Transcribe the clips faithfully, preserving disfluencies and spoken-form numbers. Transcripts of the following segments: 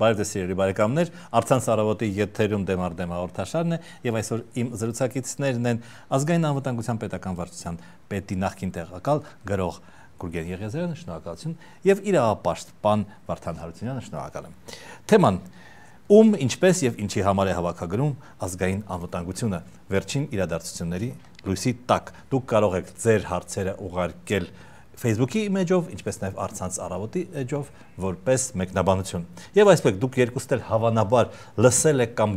Բարև ձեզ սիրելի բարեկամներ, Առցանց առավոտի եթերում դեմ առ դեմ հաղորդաշարն է եւ այսօր իմ զրուցակիցներն են ազգային անվտանգության պետական վարչության պետի նախկին տեղակալ գրող Գուրգեն Եղիազարյանը, շնորհակալություն, եւ իրավապաշտ պան Վարդան Հարությունյանը, շնորհակալ եմ։ Թեման՝ ում, ինչպես եւ ինչի համար է հավաքագրում ազգային անվտանգությունը, վերջին իրադարձությունների լույսի տակ։ Դուք կարող եք ձեր հարցերը ուղարկել Facebook-ի էջով, ինչպես նաև Առցանց առավոտի էջով, որպես մեկնաբանություն։ Եվ այսպես դուք երկուստ էլ հավանաբար լսել եք կամ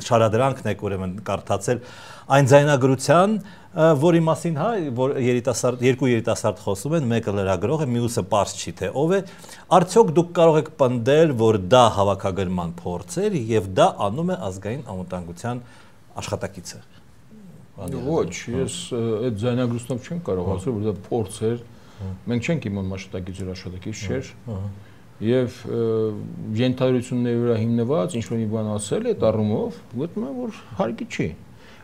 շարադրանքն եք ուրեմն կարդացել այն ձայնագրության, որի մասին հա, որ երիտասարդ երկու երիտասարդ խոսում են, մեկը լրագրող է, մյուսը պարզ չի թե ով է, արդյոք դուք կարող եք պնդել, որ դա հավաքագրման փորձ էր եւ դա անում է ազգային անվտանգության աշխատակիցը։ Ոչ, ես այդ ձայնագրությամբ չեմ կարող ասել, որ դա փորձ էր։ Մենք չենք իմանում աշխատակիցը աշխատակից չէր։ Եվ ենթադրությունների վրա հիմնված ինչ-որ մի բան ասել այդ առումով, գտնում եմ, որ հարկի չի։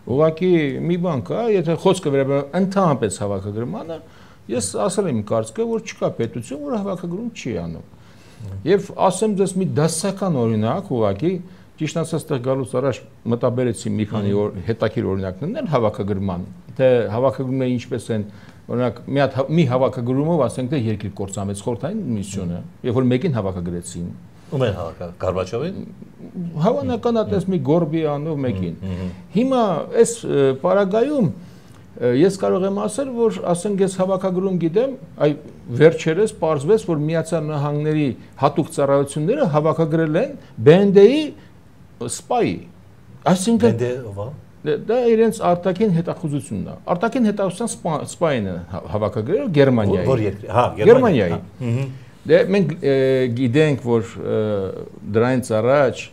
Ուղղակի մի բան կա, եթե խոսքը վերաբերում ընդհանրապես հավաքագրմանը, ես ասել եմ կարծիքը, որ չկա պետություն, որ հավաքագրում չի անում։ Եվ ասեմ ձեզ մի դասական օրինակ, ուղղակի ճիշտ ասած տեղ գալուց առաջ մտաբերեցի մի քանի հետաքրքիր օրինակներ հավաքագրման, թե հավաքագրումները ինչպես են, օրինակ մի հատ մի հավաքագրումով ասենք թե երկիր կործանվեց խորհրդային միությունը, երբ որ մեկին հավաքագրեցին։ Ում են հավաքագրել Գորբաչովին։ Հավանական է տես մի Գորբի անով մեկին։ Հիմա այս պարագայում ես կարող եմ ասել, որ ասենք ես հավաքագրում գիտեմ, այ վերջերս պարզվեց, որ Միացյալ Նահանգների հատուկ ծառայությունները հավաքագրել են B N D-ի սպայի, այսինքն դա իրենց արտաքին հետախուզությունն է, արտաքին հետախուզության սպային է հավաքագրել Գերմանիայի, որ երկրի, հա, Գերմանիայի, դե մենք գիտենք, որ դրանից առաջ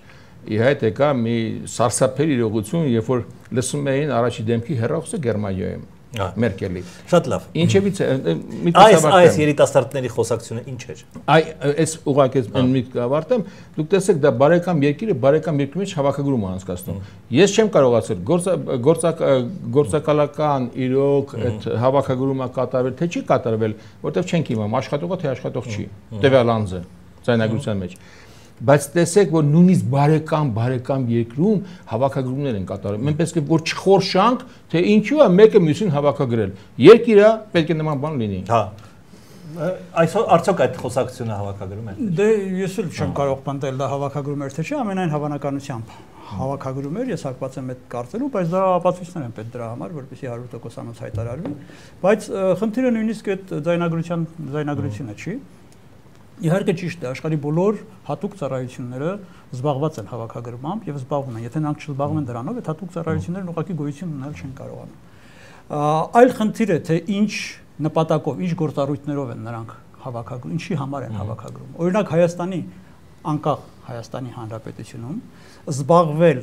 ի հայտ եկա մի սարսափելի իրողություն, երբ որ լսում էին առաջի դեմքի հեռախոսը Գերմանիայում, Մերկելի։ Շատ լավ։ Ինչևից այս այս երիտասարդների խոսակցությունը ինչ էր։ Այ այս ուղղակի այն միտք ավարտեմ, դուք տեսեք դա բարեկամ երկիրը բարեկամ երկրի մեջ հավաքագրում է անցկացնում։ Ես չեմ կարող ասել գործակալական իրոք այդ հավաքագրումը կատարվել թե չի կատարվել, որտեղ չենք իմանում աշխատողը թե աշխատող չի։ Տվյալ անձը ձայնագրության մեջ։ Բայց տեսեք, որ նույնիսկ բարեկամ բարեկամ երկրում հավաքագրումներ են կատարում։ Մենք պետք է որ չխորշանք, թե ինչու է մեկը մյուսին հավաքագրել։ Երկիրը պետք է նման բան լինի։ Հա։ Այսօր արդյոք այդ խոսակցությունը հավաքագրում է։ Դե ես էլ չեմ կարող պնդել դա հավաքագրում էր թե չէ, ամենայն հավանականությամբ հավաքագրում էր, ես հակված եմ այդ կարծելու, բայց դա ապացույցներ են պետք դրա համար, որպեսզի հարյուր տոկոս հայտարարվի, բայց խնդիրը նույնիսկ այդ ձայնագրության ձայնագրությունը չի։ Իհարկե ճիշտ է, աշխարհի բոլոր հատուկ ծառայությունները զբաղված են հավաքագրմամբ եւ զբաղվում են։ Եթե նրանք չզբաղվեն դրանով, այդ հատուկ ծառայություններն ուղղակի գոյություն ունենալ չեն կարողանում։ Այլ խնդիր է, թե ինչ նպատակով, ինչ գործառույթներով են նրանք հավաքագրում, ինչի համար են հավաքագրում։ Օրինակ Հայաստանի անկախ Հայաստանի Հանրապետությունում զբաղվել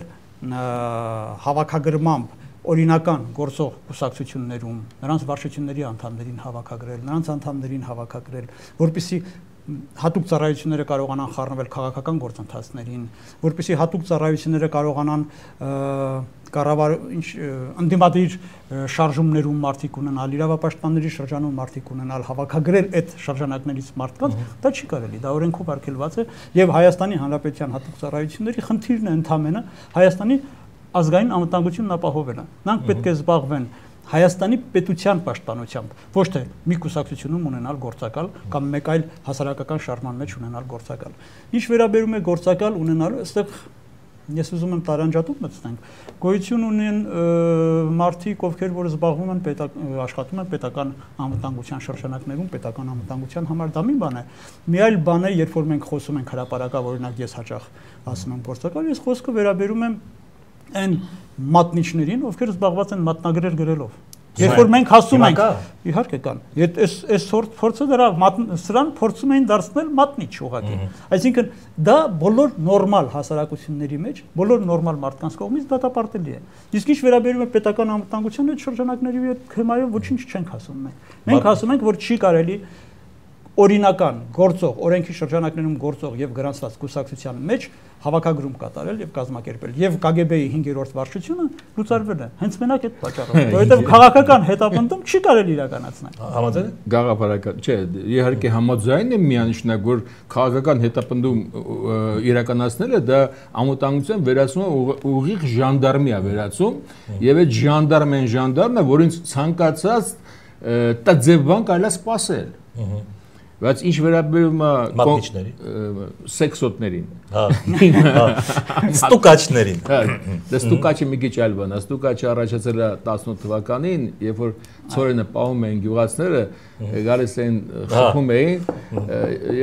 հավաքագրմամբ օրինական գործող կուսակցություններում, նրանց վարչությունների անդամներին հավաքագրել, նրանց անդամներին հավաքագրել, որպեսզի հատուկ ծառայությունները կարողանան խառնվել քաղաքական գործընթացներին, որպեսզի հատուկ ծառայությունները կարողանան կառավար ընդդիմադիր շարժումներում մարդիկ ունենալ, իրավապաշտպանների շրջանում մարդիկ ունենալ, հավաքագրել այդ շրջանակներից մարդկանց, դա չի կարելի, դա օրենքով արգելված է եւ Հայաստանի Հանրապետության հատուկ ծառայությունների խնդիրն է ընդհանրապես Հայաստանի ազգային անվտանգությունն ապահովելը։ Նրանք պետք է զբաղվեն Հայաստանի պետության պաշտպանությամբ, ոչ թե մի կուսակցությունում ունենալ գործակալ կամ մեկ այլ հասարակական շարժման մեջ ունենալ գործակալ։ Ինչ վերաբերում է գործակալ ունենալու, այստեղ ես ուզում եմ տարանջատում մտցնենք։ Գոյություն ունեն մարդիկ, ովքեր որ զբաղվում են աշխատում են պետական անվտանգության շրջանակներում, պետական անվտանգության համար դա մի բան է։ Մի այլ բան է, երբ որ մենք խոսում ենք հրապարակավ, օրինակ ես հաճախ ասում եմ գործակալ, ես խոսքը վերաբերում եմ այն մատնիչներին, ովքեր զբաղված են մատնագրեր գրելով։ Երբ որ մենք ասում ենք, իհարկե կան, այս այս փորձը դրա սրան փորձում էին դարձնել մատնիչ ուղղակի։ Այսինքն դա բոլոր նորմալ հասարակությունների մեջ, բոլոր նորմալ մարդկանց կողմից դատապարտելի է։ Իսկ ինչ վերաբերում է պետական անվտանգությանը, այդ շրջանակների հետ թեմայով ոչինչ չենք ասում մենք։ Մենք ասում ենք, որ չի կարելի օրինական գործող, օրենքի շրջանակներում գործող եւ գրանցված կուսակցության մեջ հավաքագրում կատարել եւ կազմակերպել եւ Կ Գ Բ-ի հինգերորդ վարչությունը լուծարվել է հենց մենակ այդ պատճառով, որովհետեւ քաղաքական հետապնդում չի կարելի իրականացնել։ Համաձայն եք։ Գաղափարական, չէ, իհարկե համաձայն եմ միանշանակ, որ քաղաքական հետապնդում իրականացնելը դա անվտանգության վերացումը ուղիղ ժանդարմի է վերացում եւ այդ ժանդարմեն ժանդարմը, որին ցանկացած տաձևան կարելի է սпасել։ Բայց ինչ վերաբերում է մատնիչների, սեքսոտներին, հա, ստուկաչներին, հա, դա ստուկաչը մի քիչ այլ բան է, ստուկաչը առաջացել է տասնութ թվականին, երբ որ ծորենը պահում էին գյուղացիները, գալիս էին խփում էին,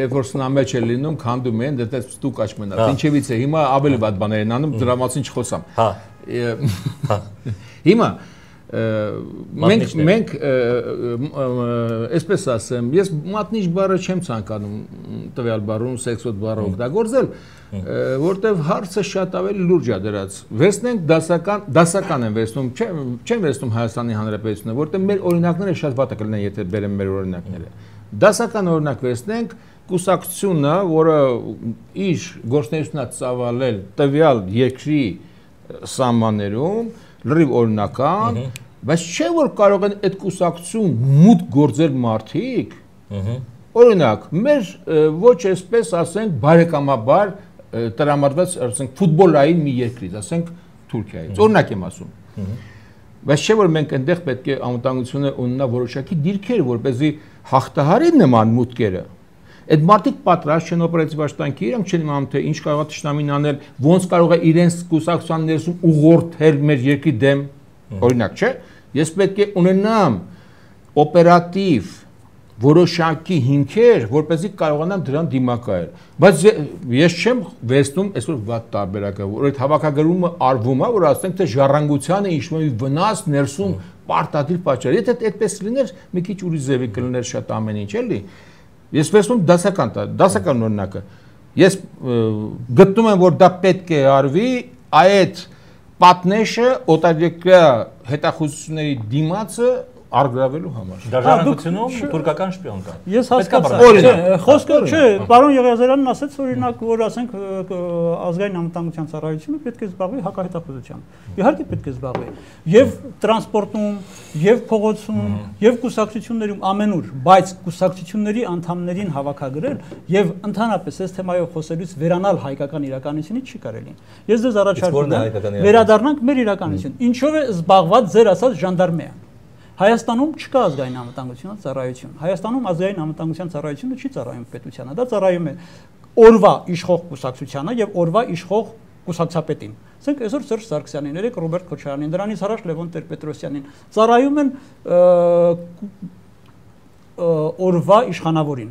երբ որ սնամեջ էր լինում, քանդում էին, դա ստուկաչ մնաց։ Ինչևից է, հիմա ավելի վատ բաներ են անում, դրա մասին չխոսամ։ Հա։ Հիմա մենք մենք այսպես ասեմ, ես մատնիչ բառը չեմ ցանկանում տվյալ բառում սեքսոտ բառը օգտագործել, որտեվ հարցը շատ ավելի լուրջ է դրած։ Վերցնենք դասական, դասական են վերցնում, չեն վերցնում Հայաստանի Հանրապետությունը, որտեղ մեր օրինակները շատ վատ կլինեն, եթե բերեմ մեր օրինակները։ Դասական օրինակ վերցնենք կուսակցությունը, որը իր գործունեությունը ծավալել տվյալ երկրի սահմաններում լրիվ օրինական, բայց չէ որ կարող են այդ կուսակցություն մուտք գործել մարդիկ, օրինակ, մեր ոչ այսպես ասենք բարեկամաբար տրամադրված, ասենք ֆուտբոլային մի երկրից, ասենք Թուրքիայից, օրինակ եմ ասում։ Բայց չէ որ մենք այնտեղ պետք է անվտանգությունը ունենա որոշակի դիրքեր, որպեսզի հաղթահարի նման մուտքերը։ Այդ մարդիկ պատրաստ չեն օպերատիվ աշխատանքի, իրանք չեն իմանում թե ինչ կարող է թշնամին անել, ոնց կարող է իրենց կուսակցության ներսում ուղղորդել մեր երկրի դեմ, օրինակ, չէ՞։ Ես պետք է ունենամ օպերատիվ որոշակի հիմքեր, որպեսզի կարողանամ դրան դիմակայել։ Բայց ես չեմ վերցնում այսօր վատ տարբերակը, որ այդ հավաքագրումը արվում է, որ ասենք թե ժառանգությանը ինչ-որ վնաս ներսում պարտադիր պատճառ։ Եթե այդպես լիներ, մի քիչ ուրիշ ձևի կլիներ շատ ամեն ինչ, էլի։ Ես վերցնում դասական, դասական օրինակը։ Ես գտնում եմ, որ դա պետք է արվի այդ պատնեշը օտարերկրյա հետախուզությունների դիմացը արգրավելու համար։ Դաշնակցությունում թուրքական շպիոն կա։ Ես հասկացա։ Չէ, խոսքը չէ, պարոն Եղիազարյանն ասաց օրինակ, որ ասենք ազգային անվտանգության ծառայությունը պետք է զբաղվի հակահետախուզությամբ։ Իհարկե պետք է զբաղվի։ Եվ տրանսպորտում, եւ փողոցում, եւ կուսակցություններում ամենուր, բայց կուսակցությունների անդամներին հավաքագրել եւ ընդհանրապես այս թեմայով խոսելուց վերանալ հայկական իրականությունից չի կարելի։ Ես ձեզ առաջարկում եմ վերադառնանք մեր իրականություն։ Ինչով է զբաղված ձեր ասած ժանդարմեան։ Հայաստանում չկա ազգային անվտանգության ծառայություն։ Հայաստանում ազգային անվտանգության ծառայությունը չի ծառայում պետությանը, դա ծառայում է օրվա իշխող կուսակցությանը եւ օրվա իշխող կուսակցապետին։ Ասենք այսօր Սերժ Սարգսյանին, երեք Ռոբերտ Քոչարյանին, դրանից առաջ Լևոն Տեր-Պետրոսյանին ծառայում են օրվա իշխանավորին։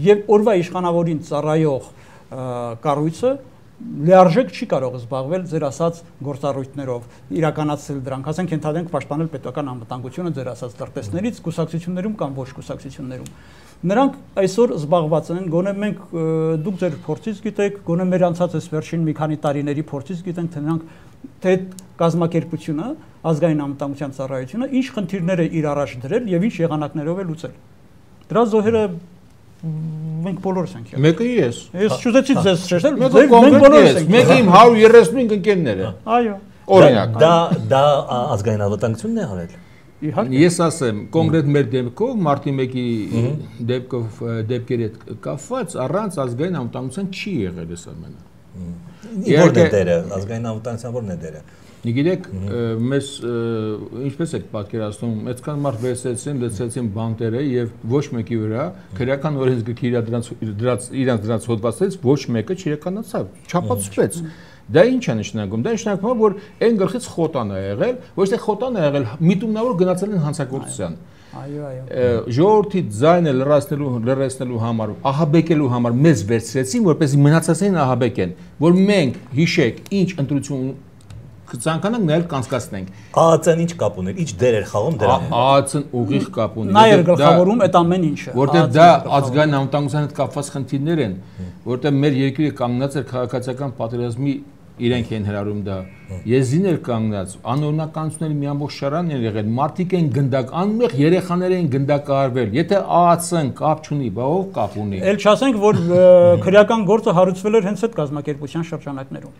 Եվ օրվա իշխանավորին ծառայող կառույցը լիարժեք չի կարող զբաղվել ձեր ասած գործառույթներով, իրականացնել դրանք, ասենք ենթադրենք պաշտպանել պետական անվտանգությունը ձեր ասած տրտեսներից, կուսակցություններում կամ ոչ կուսակցություններում։ Նրանք այսօր զբաղված են, գոնե մենք դուք ձեր փորձից գիտեք, գոնե մեր անցած այս վերջին մի քանի տարիների փորձից գիտենք, թե նրանք թե կազմակերպությունը, ազգային անվտանգության ծառայությունը ինչ խնդիրներ է իր առաջ դրել եւ ինչ եղանակներով է լուծել։ Դրա զոհերը մենք բոլորս ենք եղել։ Մեկը ես։ Ես չուզեցի ձեզ շեշտել, մենք բոլորս ենք։ Մեկը իմ հարյուր երեսունհինգ ընկերները։ Այո։ Օրինակ։ Դա դա ազգային անվտանգությունն է արել։ Իհարկե։ Ես ասեմ, կոնկրետ մեր դեպքով, մարտի մեկի դեպքով դեպքերի հետ կապված առանց ազգային անվտանգության չի եղել այս ամենը։ Որն է դերը, ազգային անվտանգության որն է դերը։ Գիտեք, մեզ ինչպես եք պատկերացնում, այդքան մարդ վերցրեցին, լցրեցին բանտերը եւ ոչ մեկի վրա քրեական օրենսգրքի դրանց իրանց դրանց հոդվածներից ոչ մեկը չիրականացավ, չապացուցվեց։ Դա ինչ է նշանակում։ Դա նշանակում է, որ այն գլխից խոտան է եղել, ոչ թե խոտան է եղել, միտումնավոր գնացել են հանցագործության։ Այո, այո։ Ժողովրդի ձայնը լրացնելու լրացնելու համար, ահաբեկելու համար մեզ վերցրեցին, որպեսզի մնացածին ահաբեկեն, որ մենք հիշեք, ինչ ընտրություն կցանկանանք նայել կանցկացնենք։ ԱԱՑ-ն ինչ կապ ուներ, ինչ դեր էր խաղում դրան։ ԱԱՑ-ն ուղիղ կապ ունի։ Նա էր գլխավորում այդ ամեն ինչը։ Որտեղ դա ազգային անվտանգության հետ կապված խնդիրներ են, որտեղ մեր երկիրը կանգնած էր քաղաքացիական պատերազմի իրենք են հրարում դա։ Եզին էլ կանգնած, անօրինականությունների մի ամբողջ շարան են եղել, մարդիկ են գնդակ, անմեղ երեխաներ են գնդակահարվել։ Եթե ԱԱՑ-ն կապ չունի, բա ով կապ ունի։ Էլ չասենք, որ քրեական գործը հարուցվել էր հենց այդ կազմակերպության շրջանակներում։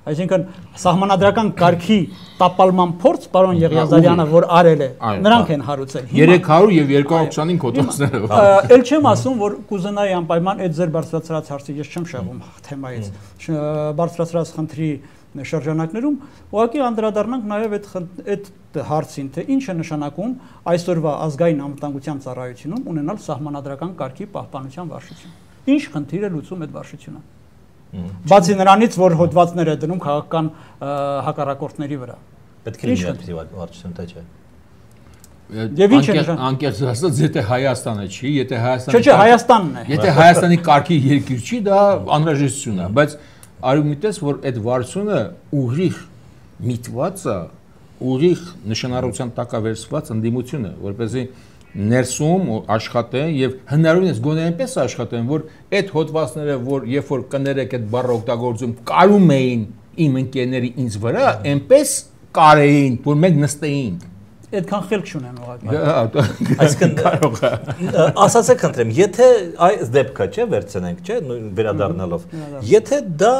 Այսինքն սահմանադրական կարգի տապալման փորձ պարոն Եղիազարյանը որ արել է, նրանք են հարուցել։ երեք հարյուր եւ երկու հարյուր ութանինգ հոդվածները։ Էլ չեմ ասում, որ կուզենայի անպայման այդ ձեր բարձրացրած հարցը ես չեմ շեղում թեմայից։ Բարձրացրած խնդրի շրջանակներում ուղղակի անդրադառնանք նաեւ այդ այդ հարցին, թե ինչ է նշանակում այսօրվա ազգային անվտանգության ծառայությունում ունենալ սահմանադրական կարգի պահպանության վարչություն։ Ինչ խնդիր է լուծում այդ վարչությունը։ Բացի նրանից, որ հոդվածներ է դնում քաղաքական հակառակորդների վրա։ Պետք է լինի վարչություն, թե չէ։ Եվ ինչ է անկեղծ ասած, եթե Հայաստանը չի, եթե Հայաստանը Չէ, չէ, Հայաստանն է։ Եթե Հայաստանի կարգի երկիր չի, դա անհրաժեշտություն է, բայց արում միտես, որ այդ վարչությունը ուղիղ միտված է, ուղիղ նշանառության տակ է վերցված ընդդիմությունը, որպեսզի ներսում աշխատեն եւ հնարավորինս գոնե այնպես աշխատեն, որ այդ հոդվածները, որ երբ որ կներեք այդ բառը օգտագործում, կարում էին իմ ընկերների ինձ վրա, այնպես կարեին, որ մենք նստեինք։ Այդքան խելք չունեն ուղղակի։ Այսինքն կարող է։ Ասացեք խնդրեմ, եթե այս դեպքը, չէ, վերցնենք, չէ, վերադառնալով, եթե դա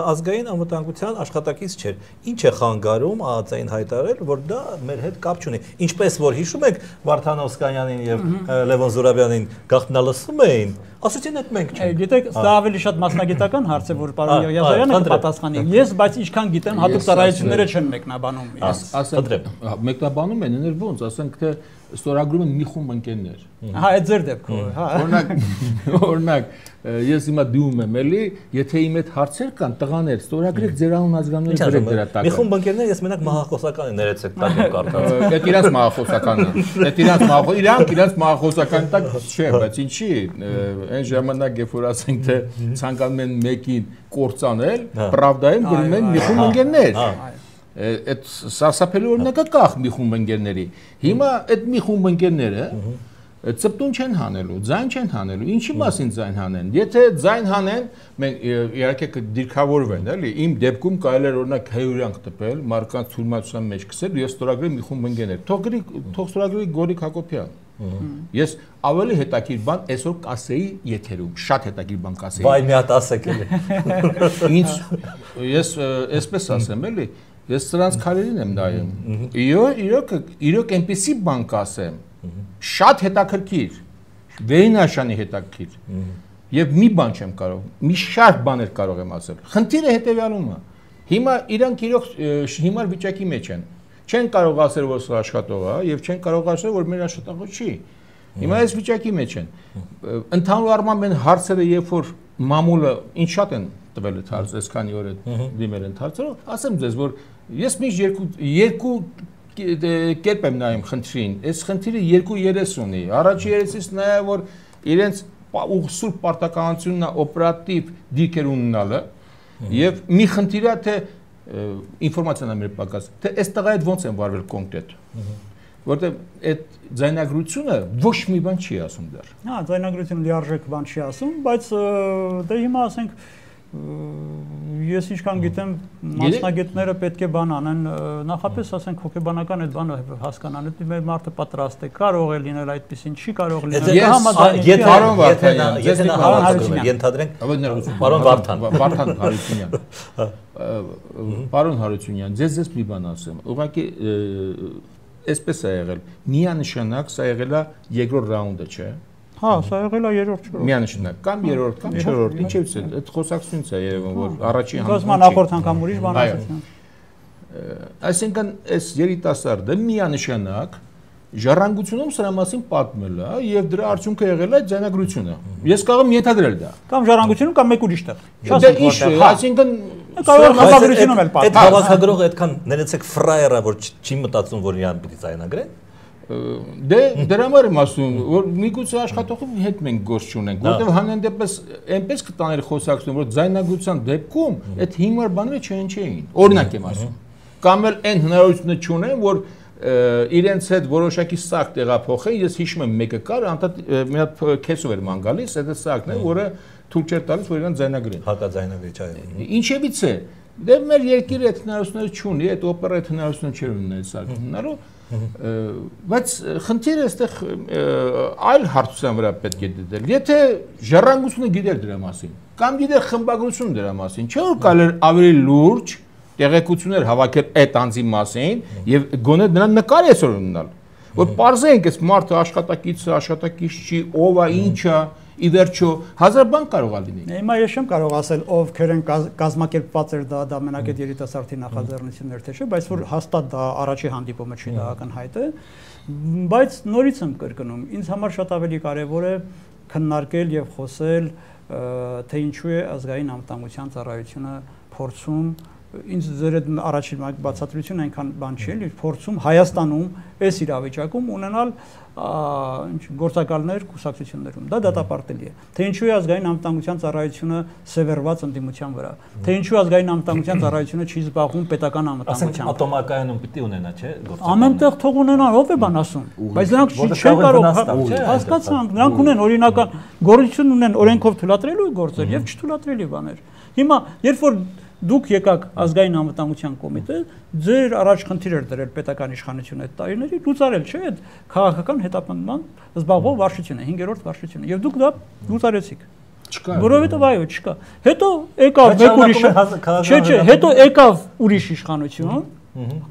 ազգային անվտանգության աշխատակից չէր, ինչ է խանգարում ԱԱԾ-ին հայտարարել, որ դա մեր հետ կապ չունի։ Ինչպես որ հիշում եք Վարդան Օսկանյանին եւ Լևոն Զուրաբյանին գաղտնալսում էին, ասեցին այդ մենք չենք։ Գիտեք, դա ավելի շատ մասնագիտական հարց է, որ պարոն Եղիազարյանը կպատասխանի։ Ես բայց ինչքան գիտեմ, հատուկ ծառայությունները չեն մեկնաբանում։ Ասեմ, մեկնաբանում են, ներ ոնց, ասենք թե ստորագրում են մի խումբ ընկերներ։ Հա, այդ ձեր դեպքով, հա։ Օրինակ, օրինակ, ես հիմա դիում եմ, էլի, եթե իմ այդ հարցեր կան, տղաներ, ստորագրեք ձեր անուն ազգանունները գրեք դրա տակ։ Մի խումբ ընկերներ, ես մենակ մահախոսական են ներեցեք տակ եմ կարդաց։ Այդ իրանց մահախոսականն է։ Այդ իրանց մահախոս, իրանք իրանց մահախոսական տակ չէ, բայց ինչի, այն ժամանակ երբ որ ասենք թե ցանկանում են մեկին կործանել, Պրավդայում գրում են մի խումբ ընկերներ։ Այդ սարսափելի օրինակը կախ մի խումբ ընկերների։ Հիմա այդ մի խումբ ընկերները ծպտուն չեն հանելու, ձայն չեն հանելու։ Ինչի մասին ձայն հանեն։ Եթե ձայն հանեն, մենք իհարկե կդիրքավորվեն, էլի։ Իմ դեպքում կարելի է օրինակ հայուրանք տպել, մարկանց թյուրիմացության մեջ գցել եւ ստորագրել մի խումբ ընկերներ։ Թող գրի, թող ստորագրի Գորիկ Հակոբյան։ Ես ավելի հետաքրքիր բան այսօր կասեի եթերում, շատ հետաքրքիր բան կասեի։ Վայ, մի հատ ասեք էլի։ Ինչ ես այսպես ասեմ, էլի։ Ես սրանց քարերին եմ նայում։ Իրոք, իրոք, իրոք այնպեսի բան կասեմ, շատ հետաքրքիր, վերինաշանի հետաքրքիր։ Եվ մի բան չեմ կարող, մի շարք բաներ կարող եմ ասել։ Խնդիրը հետևյալում է։ Հիմա իրանք իրոք հիմար վիճակի մեջ են։ Չեն կարող ասել, որ սա աշխատող է, եւ չեն կարող ասել, որ մեր աշխատողը չի։ Հիմա այս վիճակի մեջ են։ Ընդհանուր առմամբ են հարցերը, երբ որ մամուլը ինչ շատ են տվել այդ հարցը, այսքանի օր է դիմել են հարցերով, ասեմ ձեզ, որ ես միշտ երկու երկու կերպ եմ նայում խնդրին։ Այս խնդիրը երկու երես ունի։ Առաջի երեսից նայա, որ իրենց սուրբ պարտականությունն է օպերատիվ դիրքեր ունենալը, եւ մի խնդիր է թե ինֆորմացիան է մեր պակաս, թե այս տղայի հետ ոնց են վարվել կոնկրետ։ Որտեղ այդ ձայնագրությունը ոչ մի բան չի ասում դեռ։ Հա, ձայնագրությունը լիարժեք բան չի ասում, բայց դե հիմա ասենք ես ինչքան գիտեմ մասնագետները պետք է բան անեն, նախապես ասենք հոգեբանական այդ բանը հասկանան, այդ մեր մարդը պատրաստ է, կարող է լինել այդպեսին, չի կարող լինել։ Եթե պարոն Վարդանյան, եթե նա ենթադրենք պարոն Վարդան, Վարդան Հարությունյան։ Պարոն Հարությունյան, ձեզ ես մի բան ասեմ։ Ուղղակի այսպես է եղել։ Միանշանակ սա եղել է երկրորդ ռաունդը, չէ՞։ Հա, սա եղել է երրորդ չորրորդ։ Միանշանակ, կամ երրորդ, կամ չորրորդ, ինչևս է, այդ խոսակցությունից է երևում, որ առաջին անգամ։ Գազման նախորդ անգամ ուրիշ բան ասացին։ Այսինքն, այս երիտասարդը միանշանակ ժառանգությունում սրա մասին պատմել է եւ դրա արդյունքը եղել է ձայնագրությունը։ Ես կարող եմ ենթադրել դա։ Կամ ժառանգությունում կամ մեկ ուրիշ տեղ։ Դե ինչ, այսինքն կարող է հավաքագրությունում էլ պատմել։ Այդ հավաքագրողը այդքան ներեցեք ֆրայերա, որ չի մտածում, որ իրան պիտի ձայնագրեն։ Դե դրա համար եմ ասում, որ միգուցե աշխատողի հետ մենք գործ չունենք, որտեղ հանրադեպս այնպես կտաներ խոսակցություն, որ ձայնագրության դեպքում այդ հիմար բաները չեն չէին։ Օրինակ եմ ասում։ Կամ էլ այն հնարավորությունը չունեն, որ իրենց հետ որոշակի սակ տեղափոխեն, ես հիշում եմ մեկը կար, անդադ մի հատ քեսով էր ման գալիս, այդ սակն է, որը թույլ չէր տալիս, որ իրան ձայնագրեն։ Հակաձայնագրիչ այո։ Ինչևից է, Դե մեր երկիրը այդ հնարավորությունը չունի, այդ օպերա այդ հնարավորությունը չէր ունենալ սարքնալու, բայց խնդիրը այստեղ այլ հարցության վրա պետք է դիտել։ Եթե ժառանգությունը գիտեր դրա մասին, կամ գիտեր խմբագրությունը դրա մասին, չէ՞ որ կարելի էր ավելի լուրջ տեղեկություններ հավաքել այդ անձի մասին եւ գոնե նրան նկար այսօր ունենալ, որ պարզենք այս մարդը աշխատակիցը, աշխատակից չի, ով է, ինչ է, ի վերջո հազար բան կարող է լինի։ Հիմա ես չեմ կարող ասել ովքեր են կազմակերպված էր դա դա մենակ այդ երիտասարդի նախաձեռնություններ թե չէ, բայց որ հաստատ դա առաջի հանդիպումը չի, դա ակնհայտ է, բայց նորից եմ կրկնում, ինձ համար շատ ավելի կարևոր է քննարկել եւ խոսել, թե ինչու է ազգային անվտանգության ծառայությունը փորձում ինձ ձեր այդ առաջին բացատրությունը այնքան բան չի էլի փորձում Հայաստանում այս իրավիճակում ունենալ ինչ գործակալներ կուսակցություններում դա դատապարտելի է թե ինչու է ազգային անվտանգության ծառայությունը սևեռված ընդդիմության վրա թե ինչու ազգային անվտանգության ծառայությունը չի զբաղվում պետական անվտանգությամբ ատոմակայանում պիտի ունենա չէ ամենտեղ թող ունենան ով է բան ասում բայց նրանք չեն կարող հասկացանք նրանք ունեն օրինական գործություն ունեն օրենքով թույլատրելու գործեր եւ չթույլատրելի բաներ հիմա երբ որ Դուք եկաք ազգային անվտանգության կոմիտե, ձեր առաջ խնդիր էր դրել պետական իշխանությունը այդ տարիների, լուծարել չէ այդ քաղաքական հետապնդման զբաղվող վարչությունը, հինգերորդ վարչությունը, եւ դուք դա լուծարեցիք։ Չկա։ Որովհետեւ այո, չկա։ Հետո եկավ մեկ ուրիշ, չէ, չէ, հետո եկավ ուրիշ իշխանություն,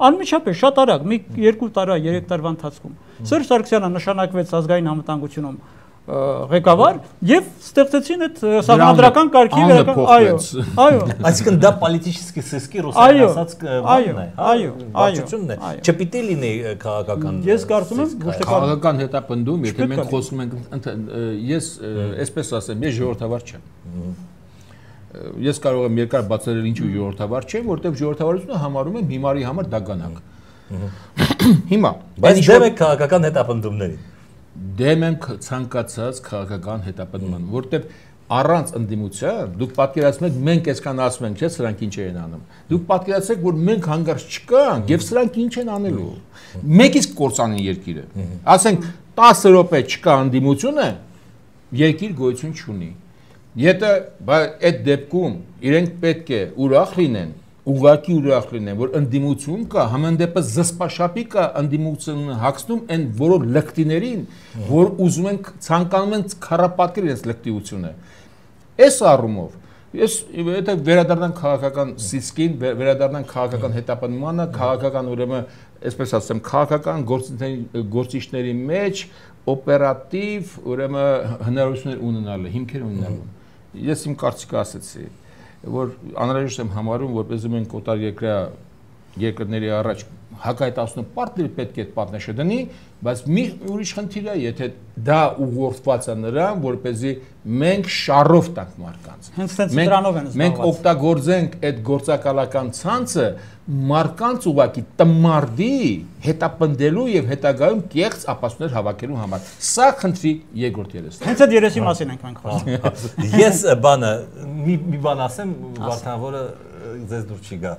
անմիջապես շատ արագ, մի երկու տարի, երեք տարվա ընթացքում։ Սերժ Սարգսյանը նշանակվեց ազգային անվտանգությունում ղեկավար եւ ստեղծեցին այդ սահմանադրական կարգի վերական այո այո այսինքն դա պոլիտիկի սիսկի ռուսական ասած բանն է այո վարչությունն է չպիտի լինի քաղաքական ես կարծում եմ քաղաքական հետապնդում եթե մենք խոսում ենք ես այսպես ասեմ ես ժողովրդավար չեմ ես կարող եմ երկար բացատրել ինչու ժողովրդավար չեմ որտեղ ժողովրդավարությունը համարում եմ հիմարի համար դագանակ հիմա բայց դեմ եք քաղաքական հետապնդումներին Դեմ ենք ցանկացած քաղաքական հետապնդման, որտեղ առանց ընդդիմության դուք պատկերացնում եք մենք այսքան ասում ենք, չէ՞, սրանք ինչ են անում։ Դուք պատկերացրեք, որ մենք հանգարց չկանք եւ սրանք ինչ են անելու։ Մեկ իսկ կործանեն երկիրը։ Ասենք տասը րոպե չկա ընդդիմությունը, երկիր գոյություն չունի։ Եթե այդ դեպքում իրենք պետք է ուրախ լինեն ուղղակի ուրախ լինեն, որ ընդդիմություն կա, համանդեպս զսպաշապի կա ընդդիմությունը հագցնում այն որոշ լկտիներին, որ ուզում են ցանկանում են քարապատկել իրենց լկտիությունը։ Այս առումով ես եթե վերադառնանք քաղաքական սիսկին, վերադառնանք քաղաքական հետապնդմանը, քաղաքական ուրեմն, այսպես ասեմ, քաղաքական գործիչների մեջ օպերատիվ ուրեմն հնարավորություններ ունենալը, հիմքեր ունենալու։ Ես իմ կարծիքը ասեցի որ անհրաժեշտ եմ համարում, որպեսզի մենք օտար երկրյա երկրների առաջ հակայտասնու պարտներ պետք է այդ պատնեշը դնի, բայց մի ուրիշ խնդիր է, եթե դա ուղղորդված է նրան, որպեսզի մենք շարով տանք մարդկանց։ Հենց այդպես դրանով են զբաղված։ Մենք օգտագործենք այդ գործակալական ցանցը մարդկանց ուղակի տմարդի հետապնդելու եւ հետագայում կեղծ ապացույցներ հավաքելու համար։ Սա խնդրի երկրորդ երեսն է։ Հենց այդ երեսի մասին ենք մենք խոսում։ Ես բանը մի մի բան ասեմ, Վարդան, որը ձեզ դուր չի գա։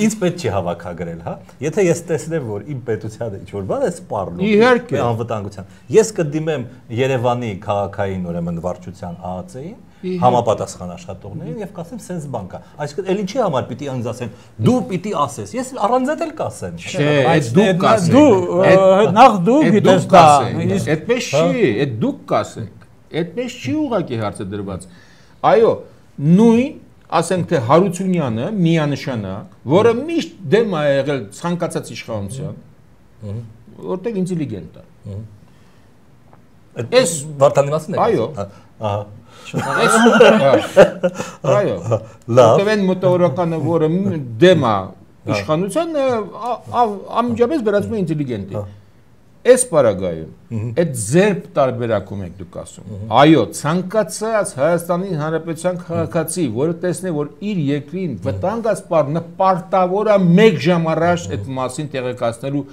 Ինձ պետք չի հավաքագրել, հա։ Եթե ես տեսնեմ, որ իմ պետությանը ինչ-որ բան է սպառնում, իհարկե անվտանգության, ես կդիմեմ Երևանի քաղաքային ուրեմն վարչության ԱԱՑ-ին, համապատասխան աշխատողներին եւ կասեմ սենց բան կա։ Այսինքն էլ ինչի համար պիտի ինձ ասեն, դու պիտի ասես։ Ես առանց էլ կասեմ։ Չէ, այդ դուք կասեք։ Դու նախ դու գիտես դա։ Այդպես չի, այդ դուք կասեք։ Այդպես չի ուղղակի հարցը դրված։ Այո, նույն ասենք թե Հարությունյանը միանշանակ, որը միշտ դեմ է եղել ցանկացած իշխանության, որտեղ ինտելիգենտ է։ Այս Վարդանի մասին է։ Այո։ Ահա։ Այո։ Որտեղ են մոտավորականը, որը դեմ է իշխանության, ամիջապես վերածվում է ինտելիգենտի։ Այս պարագայում այդ ձերբ տարբերակում եք դուք ասում։ Այո, ցանկացած Հայաստանի Հանրապետության քաղաքացի, որը տեսնի, որ իր երկրին վտանգ է սպառ, նպարտավոր է մեկ ժամ առաջ այդ մասին տեղեկացնելու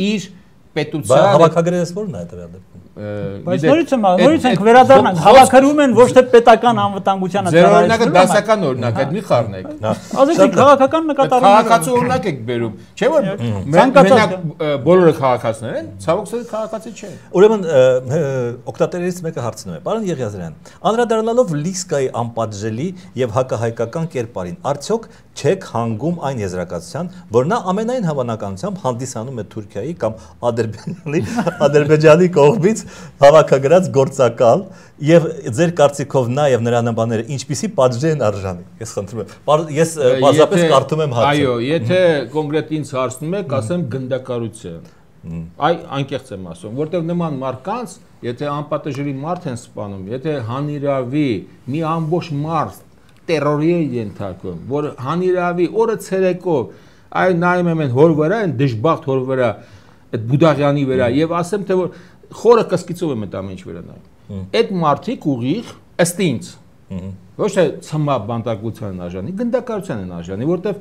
իր պետության հավաքագրերս որն է այդ դեպքում բայց նորից եմ նորից ենք վերադառնանք հավաքագրում են ոչ թե պետական անվտանգությանը ծառայություն ձեր օրինակը դասական օրինակ է մի խառնեք ասեցիք քաղաքական նկատառում քաղաքացու օրինակ եք բերում չէ՞ որ մենակ բոլորը քաղաքացիներ են ցավոք սրտի քաղաքացի չեն ուրեմն օկտատերերից մեկը հարցնում է պարոն Եղիազարյան անդրադառնալով Լիսկայի անպատժելի եւ հակահայկական կերպարին արդյոք չեք հանգում այն եզրակացության, որ նա ամենայն հավանականությամբ հանդիսանում է Թուրքիայի կամ Ադրբեջանի Ադրբեջանի կողմից հավաքագրած գործակալ եւ ձեր կարծիքով նա եւ նրա նմանները ինչպիսի պատժի են արժանի։ Ես խնդրում եմ։ Ես բազապես կարդում եմ հարցը։ Այո, եթե կոնկրետ ինձ հարցնում եք, ասեմ գնդակարություն։ Այ անկեղծ եմ ասում, որտեղ նման մարկանց, եթե անպատժելի մարդ են սպանում, եթե հանիրավի մի ամբողջ մարդ տերորի են ենթարկում, որ հանիրավի օրը ցերեկով այ նայում եմ են հոր վրա, են դժբախտ հոր վրա, այդ Բուդաղյանի վրա եւ ասեմ թե որ խորը կսկիծով եմ այդ ամեն ինչ վրա նայում։ Այդ մարդիկ ուղիղ ըստ ինձ ոչ թե ցմա բանտարկության են արժանի, գնդակարության են արժանի, որտեվ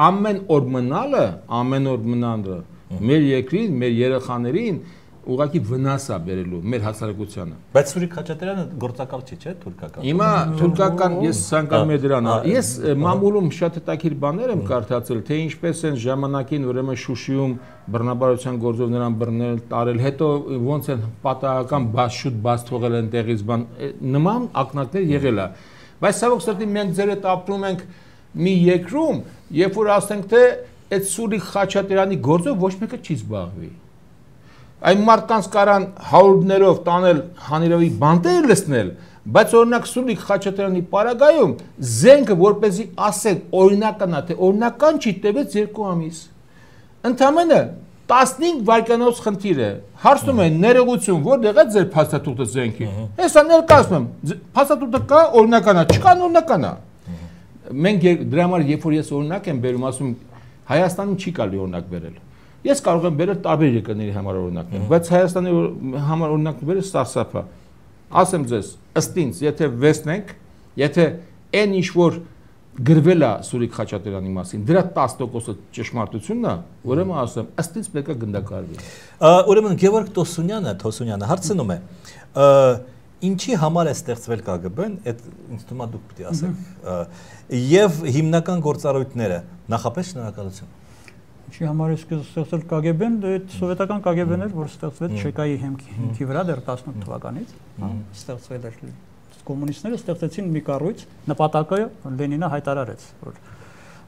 ամեն օր մնալը, ամեն օր մնալը մեր երկրին, մեր երեխաներին ուղղակի վնաս է բերելու մեր հասարակությանը։ Բայց Սուրիկ Խաչատրյանը գործակալ չի, չէ՞, թուրքական։ Հիմա թուրքական ես ցանկանում եմ դրան։ Ես մամուլում շատ հետաքրքիր բաներ եմ կարդացել, թե ինչպես են ժամանակին ուրեմն Շուշիում բռնաբարության գործով նրան բռնել, տարել, հետո ոնց են պատահական բաց շուտ բաց թողել են տեղից բան, նման ակնարկներ եղել է։ Բայց ցավոք սրտի մենք ձեր հետ ապրում ենք մի երկրում, երբ որ ասենք թե այդ Սուրիկ Խաչատրյանի գործով ոչ մեկը չի զբաղվի։ Այն մարդկանց կարան հարյուրներով տանել հանիրավի բանտեր լցնել, բայց օրինակ Սուրիկ Խաչատրյանի պարագայում զենքը որպեսզի ասեն օրինական է, թե օրինական չի տևեց երկու ամիս։ Ընդամենը տասնհինգ վայրկյանոց խնդիր է։ Հարցնում են ներողություն, որտեղ է ձեր փաստաթուղթը զենքի։ Հեսա ներկայացնում եմ, փաստաթուղթը կա, օրինական է, չկա, օրինական է։ Մենք դրա համար երբ որ ես օրինակ եմ բերում, ասում Հայաստանում չի կարելի օրինակ բերել։ Ես կարող եմ բերել տարբեր երկրների համար օրինակներ, բայց Հայաստանի համար օրինակ բերել սարսափա։ Ասեմ ձեզ, ըստ ինձ, եթե վերցնենք, եթե այն ինչ որ գրվել է Սուրիկ Խաչատրյանի մասին, դրա տասը տոկոսը ճշմարտությունն է, ուրեմն ասեմ, ըստ ինձ պետք է գնդակարվի։ Ուրեմն Գևորգ Տոսունյանը, Թոսունյանը հարցնում է, ինչի համար է ստեղծվել Կ Գ Բ-ն, այդ ինձ թվում է դուք պիտի ասեք, եւ հիմնական գործառույթները, նախապես շնորհակալություն։ Ինչի համար է ստեղծվել Կ Գ Բ-ն, այդ սովետական Կ Գ Բ-ն էր, որ ստեղծվեց Չեկայի հիմքի վրա դեռ տասնութ թվականից, ստեղծվել էր։ Կոմունիստները ստեղծեցին մի կառույց, նպատակը Լենինը հայտարարեց, որ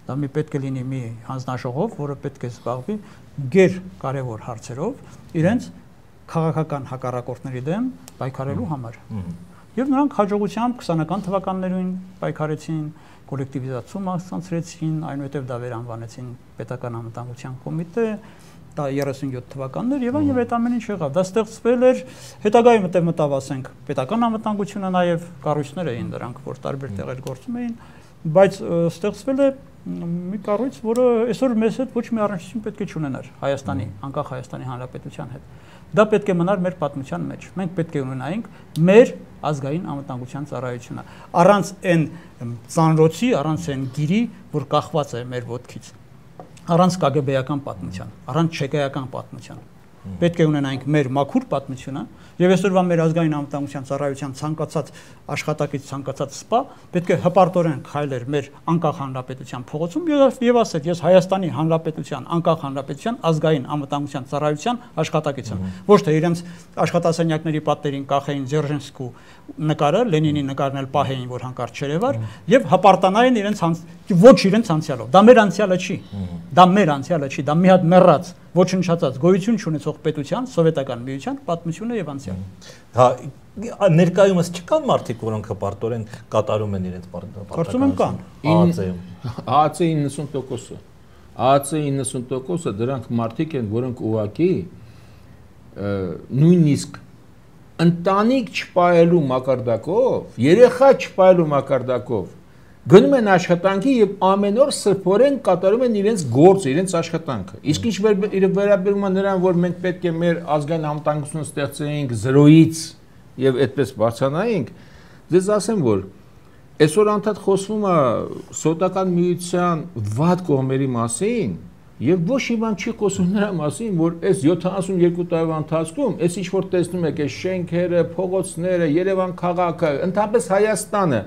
դա մի պետք է լինի մի հանձնաժողով, որը պետք է զբաղվի գեր կարևոր հարցերով, իրենց քաղաքական հակառակորդների դեմ պայքարելու համար։ Եվ նրանք հաջողությամբ քսանական թվականներին պայքարեցին, կոլեկտիվիզացում հասցրեցին, այնուհետև դա վերանվանեցին պետական անվտանգության կոմիտե, դա երեսունյոթ թվականներ եւ այն եւ այդ ամեն ինչ եղավ։ Դա ստեղծվել էր հետագայում մտավ մտավ ասենք պետական անվտանգությունը նաեւ կառույցներ էին դրանք, որ տարբեր տեղեր գործում էին, բայց ստեղծվել է մի կառույց, որը այսօր մեզ հետ ոչ մի առնչություն պետք է չունենար Հայաստանի, անկախ Հայաստանի Հանրապետության հետ։ Դա պետք է մնար մեր պատմության մեջ։ Մենք պետք է ունենայինք մեր ազգային անվտանգության ծառայությունը։ Առանց այն ծանրոցի, առանց այն գիրի, որ կախված է մեր ոտքից։ Առանց Կ Գ Բ-ական պատմության, առանց չեկայական պատմության։ Պետք է ունենայինք մեր մաքուր պատմությունը եւ այսօրվա մեր ազգային անվտանգության ծառայության ցանկացած աշխատակից, ցանկացած սպա պետք է հպարտորեն քայլեր մեր անկախ հանրապետության փողոցում եւ ասել ես Հայաստանի Հանրապետության անկախ հանրապետության ազգային անվտանգության ծառայության աշխատակից եմ։ Ոչ թե իրենց աշխատասենյակների պատերին կախեին Ձերժինսկու նկարը, Լենինի նկարն էլ պահեին, որ հանկարծ չերևար եւ հպարտանային իրենց ոչ իրենց անցյալով։ Դա մեր անցյալը չի։ Դա մեր անցյալը չի, դա մի հատ մեռած ոչնչացած գոյություն չունեցող պետության, սովետական միության պատմությունը եւ անցյալը։ Հա, ներկայումս չկան մարդիկ, որոնք հպարտորեն կատարում են իրենց պարտականությունը։ Կարծում եմ կան։ ԱԱՑ-ի իննսուն տոկոսը։ ԱԱՑ-ի իննսուն տոկոսը դրանք մարդիկ են, որոնք ուղղակի նույնիսկ ընտանիք չպայելու մակարդակով, երեխա չպայելու մակարդակով գնում են աշխատանքի եւ ամեն օր սրբորեն կատարում են իրենց գործը, իրենց աշխատանքը։ Իսկ ինչ վերաբերում է նրան, որ մենք պետք է մեր ազգային անվտանգությունը ստեղծեինք զրոյից եւ այդպես բարձրանայինք, ձեզ ասեմ, որ այսօր անդադ խոսվում է սոցիալական միության վատ կողմերի մասին Եվ ոչ մի բան չի խոսում նրա մասին, որ այս յոթանասունյոթ տարվա ընթացքում այս ինչ որ տեսնում եք, այս շենքերը, փողոցները, Երևան քաղաքը, ընդհանրապես Հայաստանը,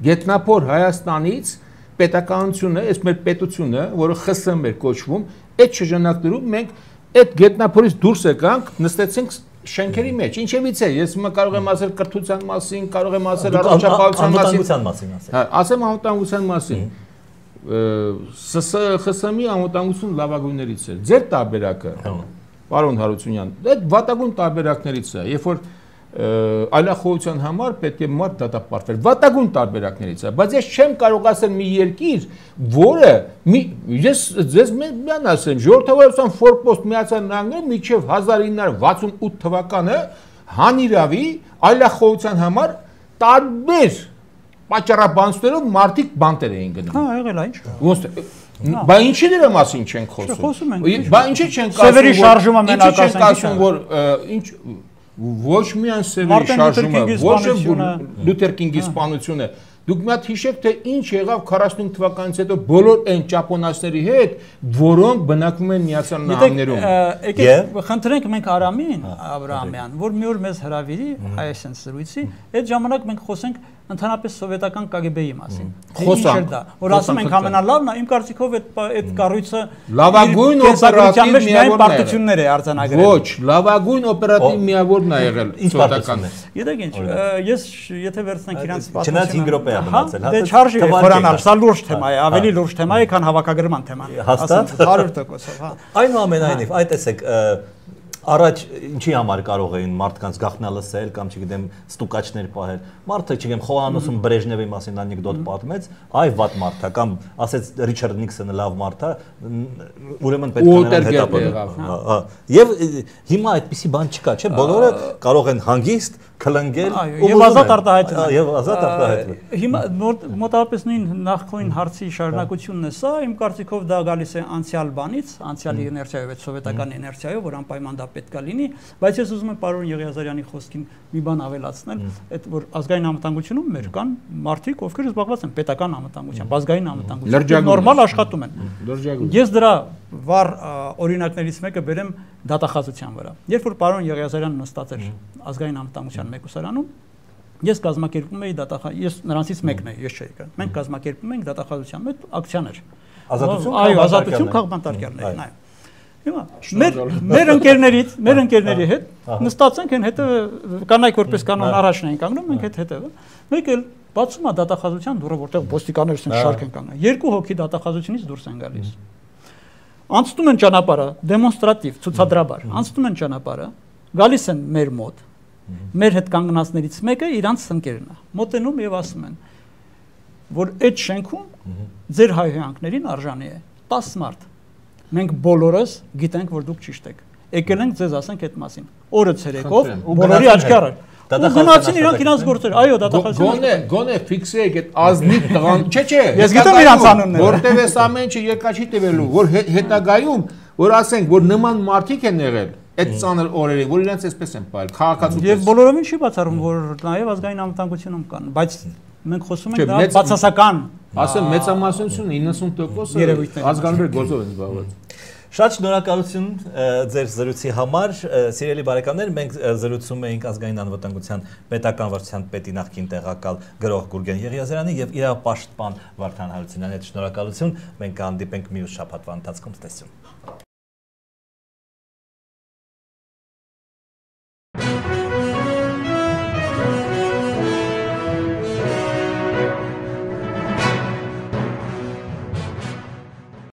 գետնափոր Հայաստանից պետականությունը, այս մեր պետությունը, որը Խ Ս Մ էր կոչվում, այդ շրջանակներում մենք այդ գետնափորից դուրս եկանք, նստեցինք շենքերի մեջ։ Ինչևից է, ես հիմա կարող եմ ասել կրթության մասին, կարող եմ ասել առողջապահության մասին, մասին, ասեմ անվտանգության մասին։ Ս Ս Խ Ս Մ-ի անվտանգություն լավագույններից է։ Ձեր տարբերակը, պարոն Հարությունյան, այդ վատագույն տարբերակներից է, երբ որ այլախոհության համար պետք է մարդ դատապարտվեր։ Վատագույն տարբերակներից է, բայց ես չեմ կարող ասել մի երկիր, որը ես ձեզ միան ասեմ, ժողովրդավարության ֆորպոստ Միացյալ Նահանգները մինչև հազար ինը հարյուր վաթսունութ թվականը հանիրավի այլախոհության համար տարբեր պատճառաբանություններով մարդիկ բանտեր էին գնում։ Հա, եղել է ինչ։ Ոնց բա ինչի դրա մասին չենք խոսում։ Խոսում ենք։ Բա ինչի չենք ասում։ Սևերի շարժումը մենակասենք, որ ինչ ոչ միայն Սևերի շարժումը, ոչ Լութեր Կինգի սպանությունը։ Դուք մի հատ հիշեք, թե ինչ եղավ քառասունհինգ թվականից հետո բոլոր այն ճապոնացիների հետ, որոնք բնակվում են Միացյալ Նահանգներում։ Եկեք խնդրենք մենք Արամին Աբրահամյան, որ մի օր մեզ հրավիրի այսպես զրույցի, այդ ժամանակ մենք խոսենք ընդհանրապես սովետական Կ Գ Բ-ի մասին։ Խոսանք, որ ասում ենք ամենալավն է, իմ կարծիքով այդ այդ կառույցը լավագույն օպերատիվ միավորն է արձանագրել։ Ոչ, լավագույն օպերատիվ միավորն է եղել սովետական։ Գիտեք ինչ, ես եթե վերցնենք իրանց պատմությունը, չնայած հինգ րոպե է մնացել, հա։ Դե չարժի խորանալ, սա լուրջ թեմա է, ավելի լուրջ թեմա է, քան հավաքագրման թեման։ Հաստատ հարյուր տոկոսով, հա։ Այնուամենայնիվ, այդ տեսեք առաջ ինչի համար կարող էին մարդկանց գաղտնա լսել կամ չգիտեմ ստուկաչներ պահել մարդը չգիտեմ Խոհանոցում Բրեժնևի մասին անեկդոտ պատմեց այ վատ մարդ է կամ ասեց Ռիչարդ Նիքսոնը լավ մարդ է ուրեմն պետք է նրան հետապնդել եւ հիմա այդպիսի բան չկա չէ բոլորը կարող են հանգիստ քլնգել եւ ազատ արտահայտվել եւ ազատ արտահայտվել հիմա մոտավորապես նույն նախքոին հարցի շարունակությունն է սա իմ կարծիքով դա գալիս է անցյալ բանից անցյալի իներցիայով այդ սովետական իներցիայով որ անպայման դա պետք է լինի բայց ես ուզում եմ պարոն Եղիազարյանի խոսքին մի բան ավելացնել այդ որ ազգային անվտանգությունում մեր կան մարդիկ ովքեր զբաղված են պետական անվտանգությամբ ազգային անվտանգությամբ նորմալ աշխատում են ես դրա վառ օրինակներից մեկը բերեմ դատախազության վրա երբ որ պարոն Եղիազարյանը նստած էր ազգային անվտանգության մեկուսարանում ես կազմակերպում էի դատախազ ես նրանցից մեկն եմ ես չէի կան մենք կազմակերպում ենք դատախազության մեջ ակցիաներ ազատություն այո ազատություն քաղբանտարկյալներ այո հիմա մեր մեր ընկերներից մեր ընկերների հետ նստած ենք այն հետը կանայք որպես կանոն առաջն էին կանգնում մենք այդ հետևը մեկ էլ բացում է դատախազության դուռը որտեղ ոստիկաններս են շարք են կանգնում երկու հոգի դատախազությունից դուրս են գալիս անցնում են ճանապարհը դեմոնստրատիվ ցուցադրաբար անցնում են ճանապարհը գալիս են մեր մոտ մեր հետ կանգնածներից մեկը իրանց ընկերն է մոտենում եւ ասում են որ այդ շենքում ձեր հայհոյանքներին արժանի է տասը մարդ մենք բոլորս գիտենք որ դուք ճիշտ եք եկել ենք ձեզ ասենք այդ մասին օրը ցերեկով բոլորի աչքի առաջ Գնացին իրանք իրանց գործեր, այո, դատախազությունը։ Գոնե, գոնե ֆիքսեեք այդ ազնիվ տղան, չէ, չէ։ Ես գիտեմ իրանց անունները։ Որտեւ էս ամեն ինչը երկա չի տևելու, որ հետագայում, որ ասենք, որ նման մարդիկ են եղել այդ ծանր օրերին, որ իրանց էսպես են պահել, քաղաքացիություն։ Եվ բոլորովին չի բացառում, որ նաեւ ազգային անվտանգությունում կան, բայց մենք խոսում ենք դա բացասական։ Ասեմ մեծամասնությունը իննսուն տոկոսը ազգանվեր գործով են զբաղված։ Շատ շնորհակալություն ձեր զրույցի համար, սիրելի բարեկամներ, մենք զրուցում էինք ազգային անվտանգության պետական վարչության պետի նախկին տեղակալ գրող Գուրգեն Եղիազարյանի եւ իր պաշտպան Վարդան Հարությունյանի հետ շնորհակալություն, մենք կհանդիպենք մյուս շաբաթվա ընթացքում, տեսություն։